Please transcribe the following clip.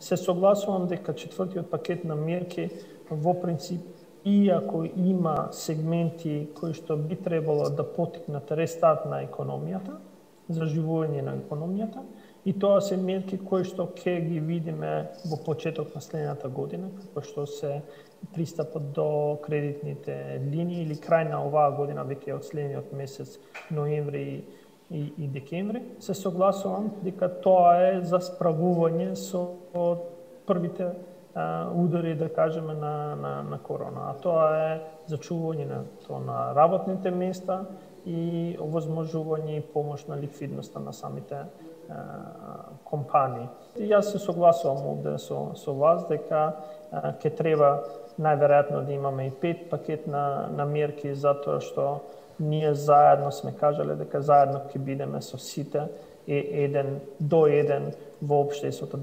Се согласувам дека четвртиот пакет на мерки во принцип, иако има сегменти кои што би требало да поттикнат рестарт на економијата, заживување на економијата, и тоа се мерки кои што ќе ги видиме во почеток на следната година, како што се пристапот до кредитните линии или крај на оваа година, веќе од следниот месец ноември и декември. Се согласувам дека тоа е за справување со првите удари, да кажеме, на корона. А тоа е зачувување на работните места и овозможување и помош на ликвидноста на самите компании. И јас се согласувам овде со вас дека ќе треба најверојатно да имаме и 5 пакет на мерки, затоа што ние заедно сме кажале дека заедно ќе бидеме со сите еден до еден во општеството.